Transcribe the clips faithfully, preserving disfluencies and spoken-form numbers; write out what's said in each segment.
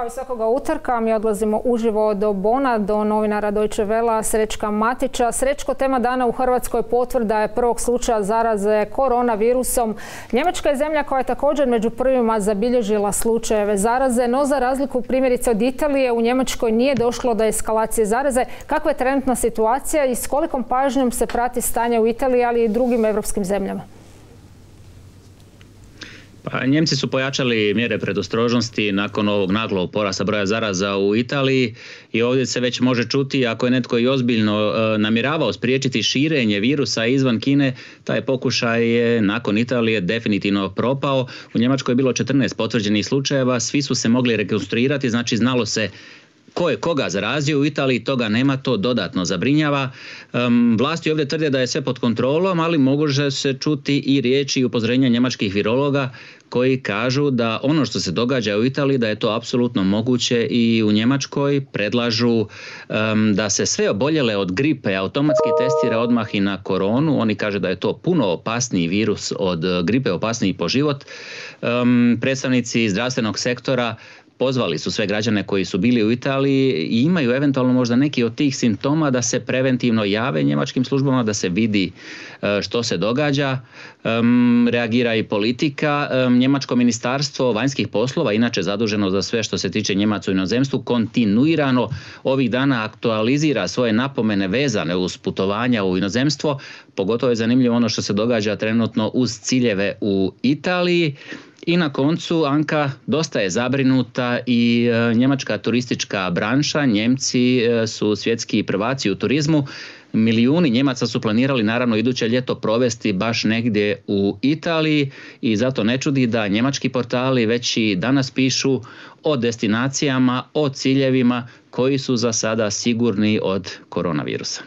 Kao i svakoga utorka mi odlazimo uživo do Bona, do novinara Deutsche Wellea Srećka Matića. Srećko, tema dana u Hrvatskoj potvrda je prvog slučaja zaraze koronavirusom. Njemačka je zemlja koja je također među prvima zabilježila slučajeve zaraze, no za razliku primjerice od Italije u Njemačkoj nije došlo do eskalacije zaraze. Kakva je trenutna situacija i s kolikom pažnjom se prati stanje u Italiji, ali i drugim europskim zemljama? Pa, Njemci su pojačali mjere predostrožnosti nakon ovog naglog porasta broja zaraza u Italiji i ovdje se već može čuti, ako je netko i ozbiljno e, namjeravao spriječiti širenje virusa izvan Kine, taj pokušaj je nakon Italije definitivno propao. U Njemačkoj je bilo četrnaest potvrđenih slučajeva, svi su se mogli rekonstruirati, znači znalo se ko je koga zarazio. U Italiji toga nema, to dodatno zabrinjava. Um, vlasti ovdje tvrde da je sve pod kontrolom, ali može se čuti i riječi i upozorenja njemačkih virologa koji kažu da ono što se događa u Italiji, da je to apsolutno moguće i u Njemačkoj. Predlažu um, da se sve oboljele od gripe automatski testira odmah i na koronu. Oni kažu da je to puno opasniji virus od gripe, opasniji po život. Um, predstavnici zdravstvenog sektora pozvali su sve građane koji su bili u Italiji i imaju eventualno možda neki od tih simptoma da se preventivno jave njemačkim službama, da se vidi što se događa. Um, reagira i politika. Um, Njemačko ministarstvo vanjskih poslova, inače zaduženo za sve što se tiče Njemaca u inozemstvu, kontinuirano ovih dana aktualizira svoje napomene vezane uz putovanja u inozemstvo. Pogotovo je zanimljivo ono što se događa trenutno uz ciljeve u Italiji. I na koncu, Anka, dosta je zabrinuta i e, njemačka turistička branša. Njemci e, su svjetski prvaci u turizmu. Milijuni Njemaca su planirali naravno iduće ljeto provesti baš negdje u Italiji i zato ne čudi da njemački portali već i danas pišu o destinacijama, o ciljevima koji su za sada sigurni od koronavirusa.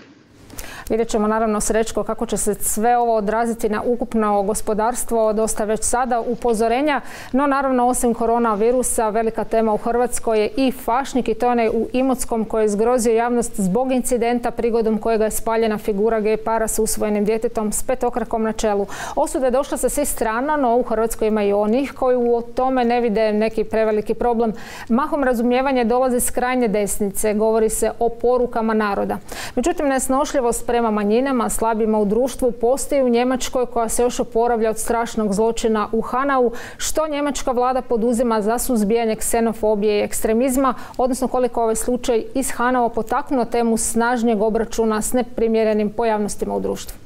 Vidjet ćemo naravno, Srećko, kako će se sve ovo odraziti na ukupno gospodarstvo, dosta već sada upozorenja. No naravno, osim koronavirusa, velika tema u Hrvatskoj je i Fašnik, i to onaj u Imotskom koji je zgrozio javnost zbog incidenta prigodom kojega je spaljena figura gej para s usvojenim djetetom s petokrakom na čelu. Osuda je došla sa svih strana, no u Hrvatskoj ima i onih koji u tome ne vide neki preveliki problem. Mahom razumijevanje dolazi s krajnje desnice, govori se o porukama naroda. Međutim, nesnošljivost prema manjinama, slabima u društvu postoji u Njemačkoj, koja se još oporavlja od strašnog zločina u Hanau. Što njemačka vlada poduzima za suzbijanje ksenofobije i ekstremizma, odnosno koliko ovaj slučaj iz Hanaua potaknuo temu snažnijeg obračuna s neprimjerenim pojavnostima u društvu?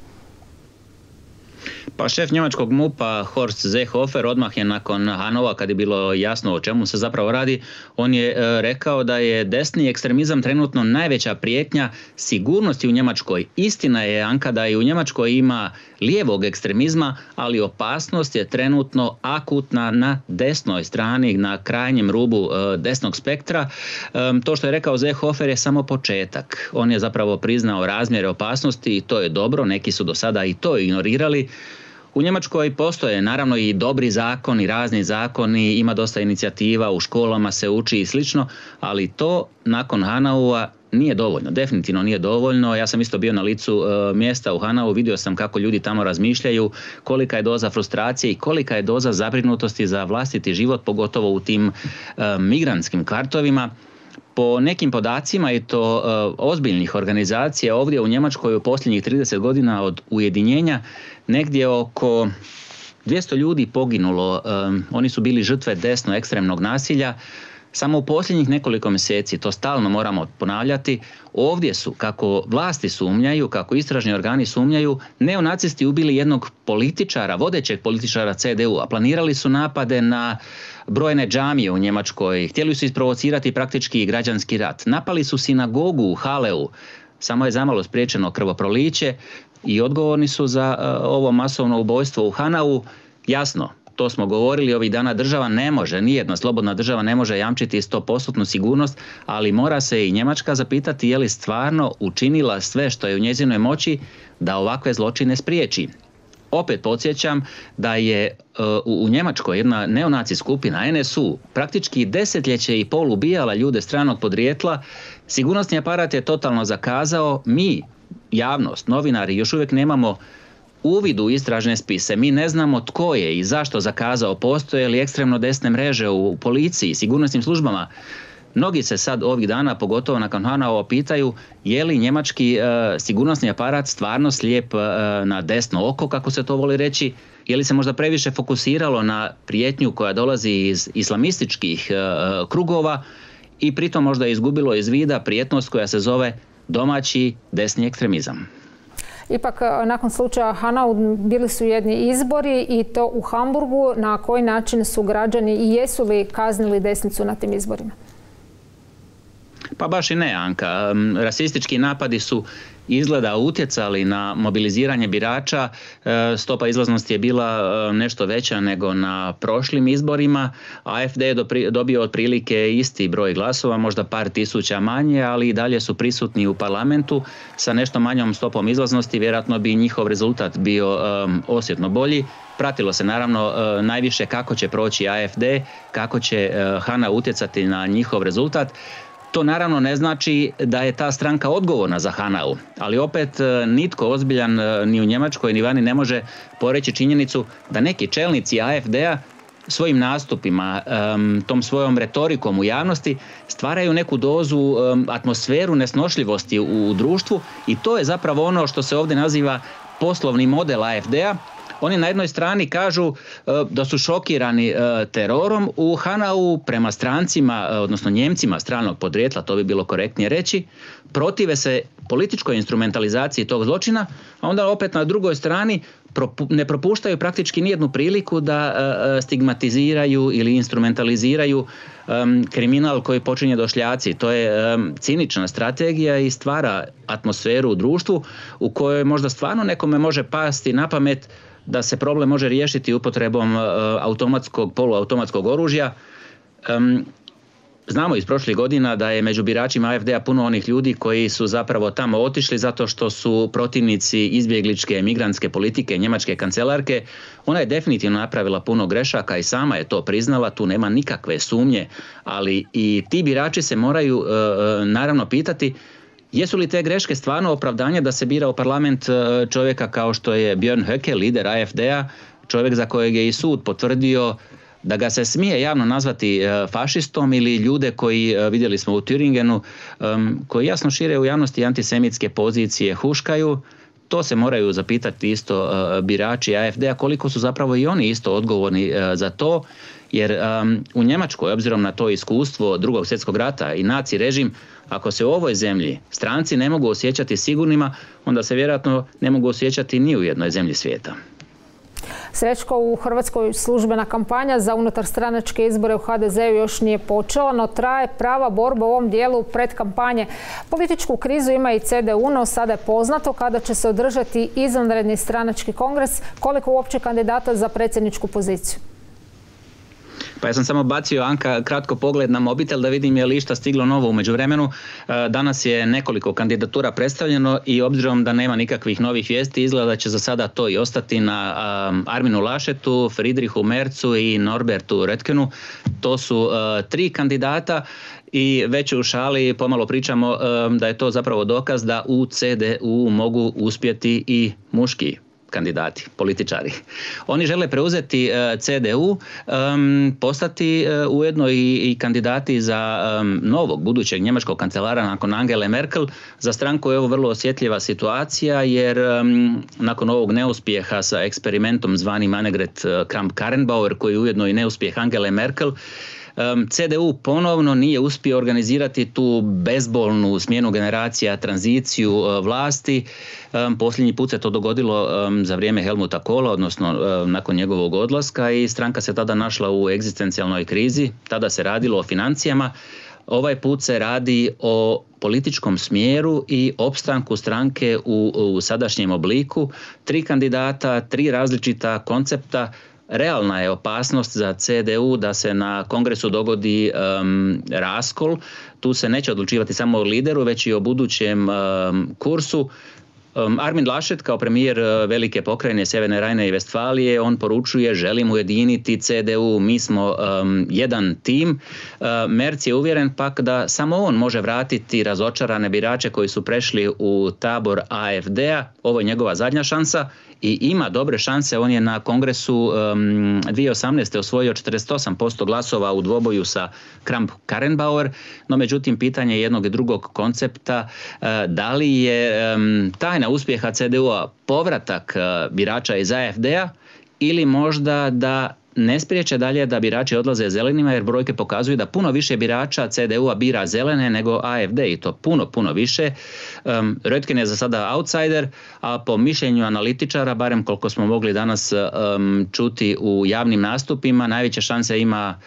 Pa šef njemačkog MUP-a Horst Seehofer odmah je nakon Hanaua, kad je bilo jasno o čemu se zapravo radi, on je e, rekao da je desni ekstremizam trenutno najveća prijetnja sigurnosti u Njemačkoj. Istina je, Anka, da i u Njemačkoj ima lijevog ekstremizma, ali opasnost je trenutno akutna na desnoj strani, na krajnjem rubu e, desnog spektra. E, to što je rekao Seehofer je samo početak. On je zapravo priznao razmjere opasnosti i to je dobro, neki su do sada i to ignorirali. U Njemačkoj postoje naravno i dobri zakoni, razni zakoni, ima dosta inicijativa, u školama se uči i slično, ali to nakon Hanaua nije dovoljno, definitivno nije dovoljno. Ja sam isto bio na licu e, mjesta u Hanau, vidio sam kako ljudi tamo razmišljaju, kolika je doza frustracije i kolika je doza zabrinutosti za vlastiti život, pogotovo u tim e, migrantskim kvartovima. Po nekim podacima i to e, ozbiljnih organizacija ovdje u Njemačkoj u posljednjih trideset godina od ujedinjenja negdje oko dvjesto ljudi poginulo. E, oni su bili žrtve desno ekstremnog nasilja. Samo u posljednjih nekoliko mjeseci, to stalno moramo ponavljati, ovdje su, kako vlasti sumnjaju, kako istražni organi sumnjaju, neonacisti ubili jednog političara, vodećeg političara C D U-a. Planirali su napade na brojne džamije u Njemačkoj, htjeli su isprovocirati praktički građanski rat. Napali su sinagogu u Haleu, samo je zamalo spriječeno krvoproliće i odgovorni su za uh, ovo masovno ubojstvo u Hanau. Jasno, to smo govorili ovih dana, država ne može, nijedna slobodna država ne može jamčiti sto posto sigurnost, ali mora se i Njemačka zapitati je li stvarno učinila sve što je u njezinoj moći da ovakve zločine spriječi. Opet podsjećam da je uh, u, u Njemačkoj jedna neonaci skupina N S U praktički desetljeće i pol ubijala ljude stranog podrijetla. Sigurnosni aparat je totalno zakazao. Mi, javnost, novinari, još uvijek nemamo uvid u istražne spise. Mi ne znamo tko je i zašto zakazao, postoje li ekstremno desne mreže u policiji, sigurnosnim službama. Mnogi se sad ovih dana, pogotovo nakon Hanaua, pitaju je li njemački e, sigurnosni aparat stvarno slijep e, na desno oko, kako se to voli reći, je li se možda previše fokusiralo na prijetnju koja dolazi iz islamističkih e, krugova i pritom možda izgubilo iz vida prijetnost koja se zove domaći desni ekstremizam. Ipak, nakon slučaja Hanau bili su jedni izbori i to u Hamburgu. Na koji način su građani i jesu li kaznili desnicu na tim izborima? Pa baš i ne, Anka. Rasistički napadi su izgleda utjecali na mobiliziranje birača. Stopa izlaznosti je bila nešto veća nego na prošlim izborima. A F D je dobio otprilike isti broj glasova, možda par tisuća manje, ali i dalje su prisutni u parlamentu sa nešto manjom stopom izlaznosti. Vjerojatno bi njihov rezultat bio um, osjetno bolji. Pratilo se naravno uh, najviše kako će proći A F D, kako će uh, Hanau utjecati na njihov rezultat. To naravno ne znači da je ta stranka odgovorna za Hanau, ali opet nitko ozbiljan ni u Njemačkoj ni vani ne može poreći činjenicu da neki čelnici A F D-a svojim nastupima, tom svojom retorikom u javnosti stvaraju neku dozu, atmosferu nesnošljivosti u društvu i to je zapravo ono što se ovdje naziva poslovni model A F D-a. Oni na jednoj strani kažu da su šokirani terorom u Hanau prema strancima, odnosno Njemcima stranog podrijetla, to bi bilo korektnije reći, protive se političkoj instrumentalizaciji tog zločina, a onda opet na drugoj strani ne propuštaju praktički nijednu priliku da stigmatiziraju ili instrumentaliziraju kriminal koji počinje došljaci. To je cinična strategija i stvara atmosferu u društvu u kojoj možda stvarno nekome može pasti na pamet da se problem može riješiti upotrebom automatskog, poluautomatskog oružja. Znamo iz prošlih godina da je među biračima A F D-a puno onih ljudi koji su zapravo tamo otišli zato što su protivnici izbjegličke migrantske politike njemačke kancelarke. Ona je definitivno napravila puno grešaka i sama je to priznala, tu nema nikakve sumnje, ali i ti birači se moraju naravno pitati jesu li te greške stvarno opravdanje da se bira u parlament čovjeka kao što je Björn Höcke, lider A F D-a, čovjek za kojeg je i sud potvrdio da ga se smije javno nazvati fašistom, ili ljude koji, vidjeli smo u Thüringenu, koji jasno šire u javnosti antisemitske pozicije, huškaju. To se moraju zapitati isto birači A F D-a koliko su zapravo i oni isto odgovorni za to, jer u Njemačkoj, obzirom na to iskustvo Drugog svjetskog rata i naci režim, ako se u ovoj zemlji stranci ne mogu osjećati sigurnima, onda se vjerojatno ne mogu osjećati ni u jednoj zemlji svijeta. Srećko, u Hrvatskoj službena kampanja za unutarstranačke izbore u H D Z-u još nije počela, no traje prava borba u ovom dijelu predkampanje. Političku krizu ima i C D U, no sada je poznato kada će se održati izvanredni stranački kongres, koliko uopće kandidata za predsjedničku poziciju. Pa ja sam samo bacio, Anka, kratko pogled na mobitel da vidim je li išta stiglo novo u međuvremenu. Danas je nekoliko kandidatura predstavljeno i obzirom da nema nikakvih novih vijesti, izgleda da će za sada to i ostati na Arminu Laschetu, Friedrichu Merzu i Norbertu Röttgenu. To su tri kandidata i već u šali pomalo pričamo da je to zapravo dokaz da u C D U mogu uspjeti i muški kandidati, političari. Oni žele preuzeti C D U, postati ujedno i kandidati za novog budućeg njemačkog kancelara nakon Angele Merkel. Za stranku je ovo vrlo osjetljiva situacija jer nakon ovog neuspjeha sa eksperimentom zvanim Annegret Kramp-Karrenbauer, koji je ujedno i neuspjeh Angele Merkel, C D U ponovno nije uspio organizirati tu bezbolnu smjenu generacija, tranziciju vlasti. Posljednji put se to dogodilo za vrijeme Helmuta Kohla, odnosno nakon njegovog odlaska, i stranka se tada našla u egzistencijalnoj krizi. Tada se radilo o financijama. Ovaj put se radi o političkom smjeru i opstanku stranke u, u sadašnjem obliku. Tri kandidata, tri različita koncepta. Realna je opasnost za C D U da se na kongresu dogodi um, raskol. Tu se neće odlučivati samo o lideru, već i o budućem um, kursu. Um, Armin Laschet kao premijer velike pokrajine Sjeverne Rajne i Vestfalije, on poručuje želimo ujediniti C D U, mi smo um, jedan tim. Uh, Merz je uvjeren pak da samo on može vratiti razočarane birače koji su prešli u tabor A F D-a. Ovo je njegova zadnja šansa i ima dobre šanse. On je na kongresu um, dvije tisuće osamnaeste. osvojio četrdeset osam posto glasova u dvoboju sa Kramp-Karrenbauer, no međutim pitanje jednog i drugog koncepta, uh, da li je um, tajna uspjeha C D U-a povratak uh, birača iz A F D-a ili možda da ne spriječe dalje da birači odlaze zelenima, jer brojke pokazuju da puno više birača C D U-a bira zelene nego A F D i to puno, puno više. Um, Röttgen je za sada outsider, a po mišljenju analitičara, barem koliko smo mogli danas um, čuti u javnim nastupima, najveće šanse ima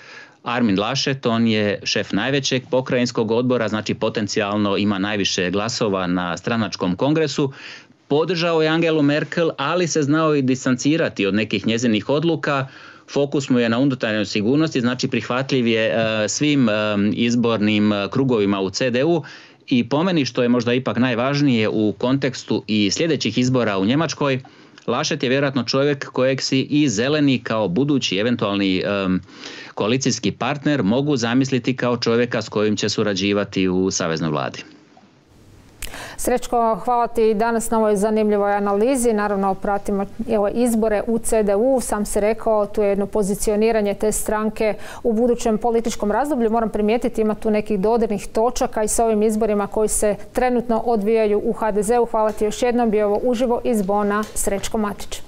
Armin Laschet, on je šef najvećeg pokrajinskog odbora, znači potencijalno ima najviše glasova na stranačkom kongresu. Podržao je Angelu Merkel, ali se znao i distancirati od nekih njezinih odluka. Fokus mu je na unutarnjoj sigurnosti, znači prihvatljiv je uh, svim uh, izbornim uh, krugovima u C D U i po meni, što je možda ipak najvažnije u kontekstu i sljedećih izbora u Njemačkoj, Laschet je vjerojatno čovjek kojeg si i zeleni kao budući eventualni um, koalicijski partner mogu zamisliti kao čovjeka s kojim će surađivati u saveznoj vladi. Srećko, hvala ti danas na ovoj zanimljivoj analizi. Naravno, pratimo evo, izbore u C D U. Sam si rekao, tu je jedno pozicioniranje te stranke u budućem političkom razdoblju. Moram primijetiti, ima tu nekih dodirnih točaka i s ovim izborima koji se trenutno odvijaju u H D Z-u. Hvala ti još jednom. Bio ovo uživo iz Bona, Srećko Matić.